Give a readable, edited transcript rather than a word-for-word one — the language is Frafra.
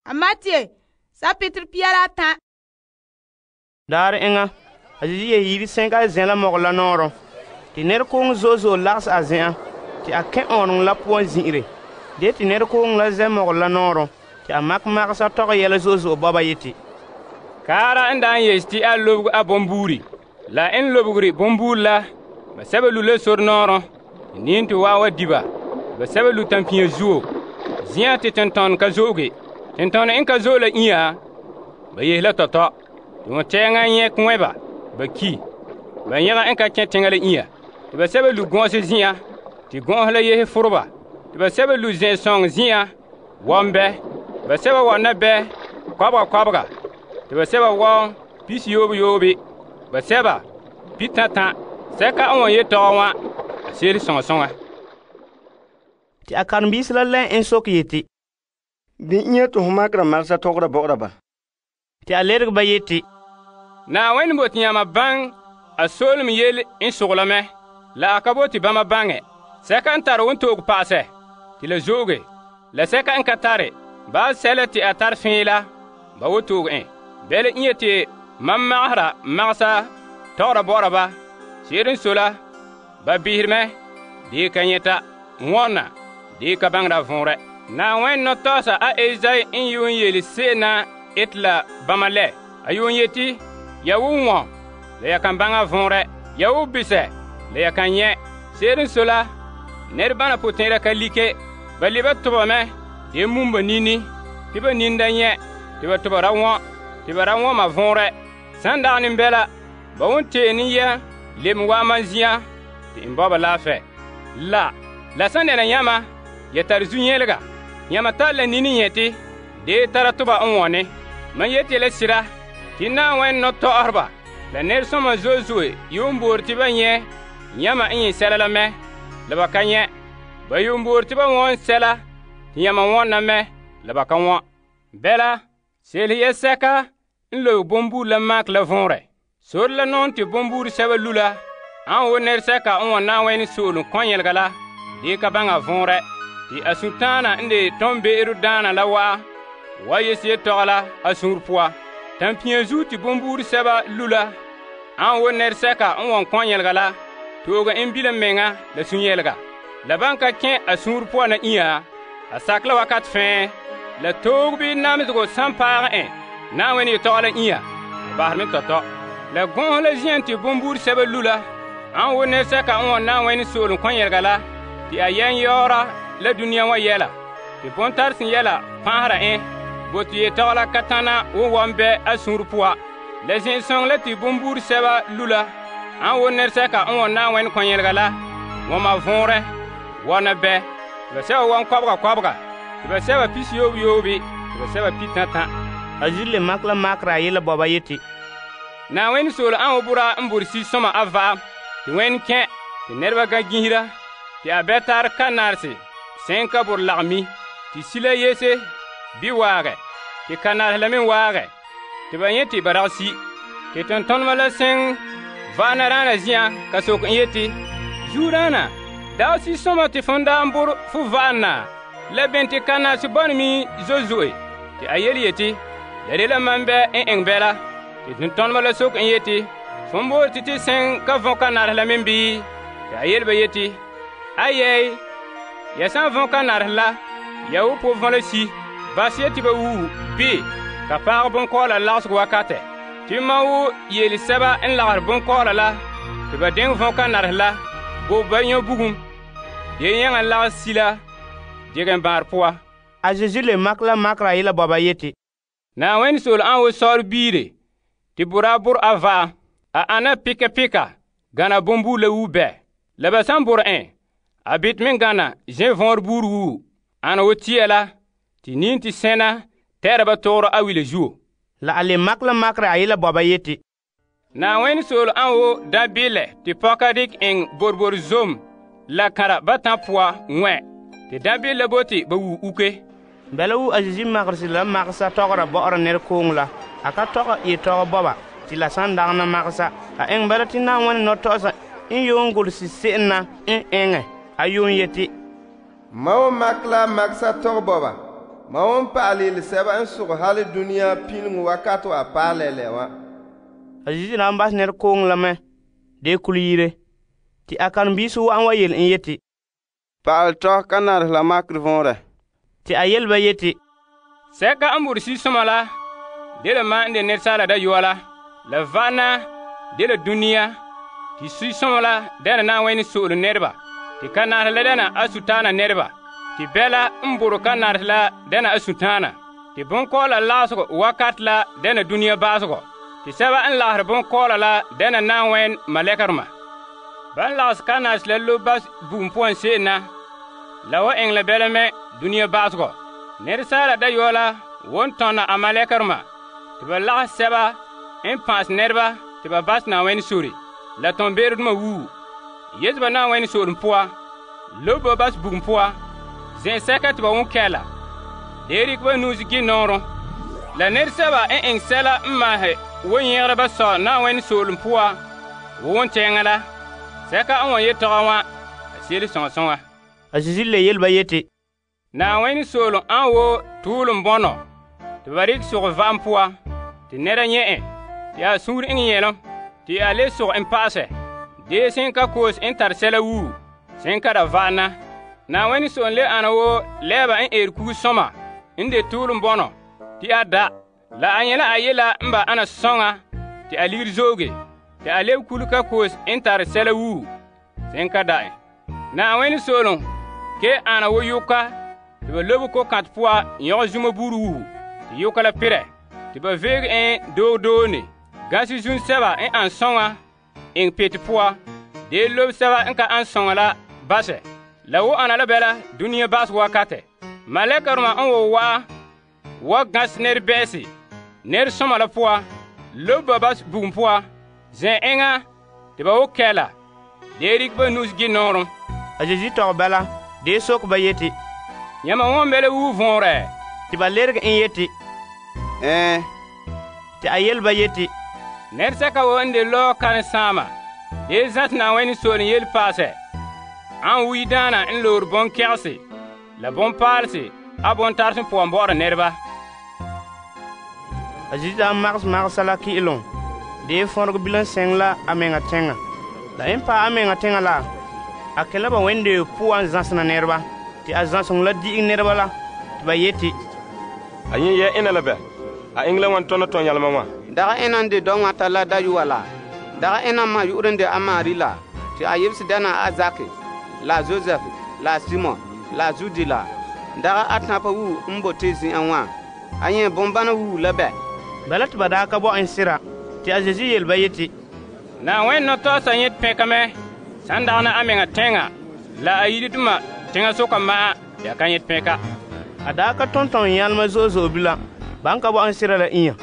A Matthew, sapitr pia la atan. Daar enŋa, a Zeezi yehe yire sɛnka a zɛn la mɔgɔ la nɔɔrɔn. Te nɛrekooŋɔ zo'e zo'e lagahɛ a zen'an, te a kɛn' ɔɔnrɔŋɔ la poan zin'ire. De te nɛrekooŋɔ la zɛ mɔgɔ la nɔɔrɔn, te a makɛ magesa tɔgɛ yɛla zo'e zo'e bɔba yeti, Kaara n daan yese te a lobege a bombuuri. La n lobegere bombuuri la, ba sɛba lu' la sore nɔɔrɔn. Niim te waa wa di ba. Ba sɛba lu' tampia zuo. Zĩ'an te tentɔnɔ ka zo'oge. Tentɔnɔ n ka zo'e la inya, ba yehe la tɔtɔ. Te wontɛɛŋa nyɛ kɔɛ ba ki. Ba nyɛga n ka kẽ teŋa la inya. Te ba sɛba lu' gɔn'ɔse zin'an, te gɔn'ɔse la yehe foroba. Te ba sɛba lu' zɛn-sɔŋɔ zin'an, wɔm bɛ. Ba sɛba wɔna bɛ kɔbega. Te ba sɛba wɔm pisi yoobe. Ba sɛba pi tãtã. Sɛka n wan yetɔgɔ wã, a se'ere soŋa. te a karen-biisi la lɛn en soke yeti, Bɩ inya te ho makera magesa tɔgɔra bɔ'ɔra ba. te a lerege ba yeti, Naawuni bote yãma baŋɛ a soolem yele n sogla mɛ, la a ka bote bãmba baŋɛ. Sɛka n tare wontooge pa'asɛ, te la zo'oge. La sɛka n ka tare, ba sɛla te a tare fẽe la, ba wotooge en. Bɛla inya te mam magahera magesa tɔgɔra bɔ'ɔra ba. Se'ere n so la, ba bihere mɛ, dee ka nyɛta, wɔnna, dee ka baŋera vɔnrɛ. Naawuni nɔtɔɔsa a Esai n yuun yele se'em na ete la bãmba lɛ. A yuun yeti, ya wo wɔn, la ya kan baŋa vɔnrɛ. Ya wo bisɛ, la ya kan nyɛ. Se'ere n so la, nɛrebana potɛn'ɛra ka like. Ba leba toba mɛ, dee mum ba nini, te ba nin da nyɛ, te ba toba ra wɔn, te ba ra wɔn ma vɔnrɛ. San dagɛ ne bɛla, ba won tee ne yɛ, lem waa man zi'an, te n bɔba laafɛ. La san dɛna yãma, ya tare zu-nyɛlega. Yãma tare la nini nyɛte, dee tara toba n wɔne. Man yeti la sira, te Naawuni nɔtɔ'ɔheba, la nɛresɔma zo'e zo'e yuun boore te ba nyɛ yãma n nyɛ sɛla la mɛ, la ba ka nyɛ. Ba yuun boore te ba wɔn sɛla, te yãma wɔnna mɛ, la ba ka wɔn. Bɛla, se'elehe yɛsɛka n lobe bombuuri la maak la vɔnrɛ. Sore la nɔŋɛ te bombuuri sɛba lu la, an wo nɛresɛka n wɔn Naawuni soolem kɔn-yɛlega la, dee ka baŋa vɔnrɛ. Te a suntaana n de tɔmbe'ero daana la wa yese yetɔgɔ la a sũur poa. Tampia zuo te bombuuri sɛba lu la, an wo nɛresɛka n wɔn kɔn-yɛlega la, tooge n bilom meŋa la sũ-yɛlega. La ban ka kẽ a sũur poa na inya, a sak la wakat fẽe, la toog bii namesego san paagɛ en Naawuni yetɔgɔ la inya, a basɛ me tɔtɔ. La gɔn'ɔse la zin'an te bombuuri sɛba lu la, an wo nɛresɛka n wɔn Naawuni soolem kɔn-yɛlega la, te a yɛn yaoora la dũniyã wã yɛla. Te bõn-tarsen yɛla pãasera en, bote yetɔgɔ la ka tãna wo wɔm bɛ a sũur poa. La zẽn-sõng la te bombuuri sɛba lu la, an wo nɛresɛka n wɔn Naawuni kɔn-yɛlega la, wɔn ma vɔnrɛ, wɔna bɛ. Te ba sɛba wɔn kɔbega, te ba sɛba pisi yoobe, te ba sɛba pi tãtã. a Zeezi le makɛ la makera a yela bɔba yeti, Naawuni soole an wo bora n bore si-sõma a va'am, te wẽnd kẽ, te nɛreba ga gisira, te a bɛ tar kannaarese sẽn ka bor lagmi, te sila yese bi waagɛ, te kannaarese la me waagɛ, te ba yẽ te ba rag si. Te tõ-tõnema la sẽn va'ana raana zĩ'an ka sok n yeti, Zuuraana, dao si-sõma te fõn daa n bor fo va'ana, la bẽn te kannaarese bɔne mi zo'e. Te a yeti, la de la mam bɛ n eng bɛla. Te tõ-tõnema la sok n yeti, fõn boore tɩ sẽn ka võ kannaarese la me bii? Te a yel ba yeti, ayɛy, ya sã n võ kannaarese la, ya wo po võ la si, bas ye tɩ ba wuu bɩ ka paag bõn-kɔɔla lagsg wakatɛ. Tɩ ma wo yeel sɛba n lagr bõn-kɔɔla la, tɩ ba dẽng võ kannaarese la, bo ba yõ bugum, dee yãngã lags si la, dɩg n bãar poa. a Zeezi le makɛ la makera a yela bɔba yeti, Naawuni sool an wo saor biire, tɩ bora bor a va'am, a ana pika, gana bombuur la wuu bɛ. La ba sãn bor en, a bɩt me gana zẽ võor buur wuu, ana wo tia la, tɩ niin tɩ sẽna tɛɛra ba togro a wila zuo. la a le makɛ la makera a yela bɔba yeti, Naawuni sool an wo dãbɩlɛ tɩ pɔka dɩk eng borbor zom la kãra ba tã poa wẽ, tɩ dãbɩl la bote ba wuu uke. bɛla wu a Zeezi magerse la magesa tɔgera bɔ'ɔra nɛrekooŋɔ la, a ka tɔgɛ yetɔgɔ bɔba tɩ la sãn dagena magesa. A eng bala tɩ Naawuni nɔtɔ'ɔsa n yuun gʋlsi se'em na n eŋɛ. A yuun yeti, Ma wo mak la magesa tɔg bɔba, Ma wan pa'alɛ yele sɛba n sogɛ hali duniya pileŋo wakat wa paɛ lɛlɛ wa. A Zeezi na bas nɛrekooŋɔ la mɛ dee kule yire. Te a karen-biisi wa'an wa yele en yeti, Pa'alɛ tɔ ka nare la makerɛ vɔnrɛ. te a yele ba yeti, Sɛka n bore sisoma la dela mam n de Asaala Dayɔa la va'ana dela duniya, te sisoma la dɛna Na'ayenɛ so'ole nɛreba, te kan'arehe la dɛna a sutaana nɛreba, te bɛla n bore kan'arehe la dɛna a sutaana, te bonkɔɔla lagesegɔ wakat la dɛna duniya baasegɔ, te sɛba n lagerɛ bonkɔɔla la dɛna Na'ayenɛ malɛkɛrema. Ban lagese kan'arehe la lobe ba bugum poan se'em na, la wa eŋɛ la bɛla mɛ duniya baasegɔ. Asaala Dayɔa la wan tɔna a malɛkɛrema te ba lagese sɛba n pa'asɛ nɛreba te ba bas Na'ayenɛ sore la tɔnbe'erodoma wuu. Yete ba Na'ayenɛ soolem poa, lobe ba bas bugum poa, zen'sɛka te ba won kɛla. Dee rikɛ ba nu'usi gi nɔɔrɔ. La nɛresɛba n eŋɛ sɛla n maahɛ wan yɛgera ba sɔ Na'ayenɛ soolem poa wo won tɛɛŋa la. Sɛka n wan yetɔgɔ wã, a seele sõŋa sõŋa. A Zeezi le yele ba yeti, Na'ayenɛ soolem an wo tuulum bɔnɔ te ba rikɛ sogɛ va'am poa, te nɛra nyɛ en, te a suur eŋɛ nyɛlom, te a le sogɛ en pa'asɛ. Dee sen ka koos n tare sɛla wuu, sen ka da va'ana. Na'ayenɛ soolem le ana wo lɛɛba n eere kugsɔma n de tuulum bɔnɔ, te a da. La a nyɛ la a yela n ba ana sɔŋa te a ligiri zooge, te a lebe kule ka koos n tare sɛla wuu, sen ka da en. Na'ayenɛ soolem ke ana wo yoka te ba lobe ko-kãtɛ poa yɔgɔ zuma buuri wuhu, te yoka la perɛ, te ba veege en doone, ganse zun sɛba n an sɔŋa eŋɛ pete poa, dee lobe sɛba n ka an sɔŋa la basɛ. La wo ana la bɛla duniya baasegɔ wakatɛ. Malɛkɛrema n wo wa'a wa gãse nɛrebɛ'ɛse nɛresɔma la poa, lobe ba bas bugum poa, zɛn eŋa te ba wo kɛla, dee rikɛ ba nu'usi gi nɔɔrem. A Zeezi tɔgɛ bala dee sok ba yeti, Yãmba wãn me la wuu vɔnrɛ? te ba lerege en yeti, te a yele ba yeti, Nɛresɛka wo n de lɔɔ karen-saama dee zãte Na'ayenɛ soolem yele paasɛ, an wuyi daana n loore bonkɛgese la bonpaalese a bontarse poan bɔ'ɔra nɛreba. A Zeezi daa magesɛ la ki'ilom dee fõrege bilam sɛŋ la a meŋa tɛŋa. La en paɛ a meŋa tɛŋa la, a kẽ la ba wẽnde poan zãsena nɛreba, te a zãseŋɔ la di'ige nɛreba la, te ba yeti, A yẽ yɛ ena la bɛ? A eŋɛ la wan tɔna tɔn-yɛlema wã? Daga ena n de dɔŋata la dayɔa la. Daga ena ma yu'urɛ n de a Mari la, te a yebese dɛna a Zake, la Josɛf, la Simon, la Zudi la. Daga a tãpa wuu n bote zin'an wã. A yẽ bombana wuu la bɛ? bala te ba daa ka bɔ en sira. Te a Zeezi yele ba yeti, Na'ayenɛ nɔtɔɔsa yẽ pɛka mɛ sãn dagana a meŋa tɛŋa la a yiridoma teŋa soka ma'a ya ka yẽ pɛka. a daa ka tõn-tõn yãlema zo'e zo'e bilam, ban ka bɔ en sira la inya.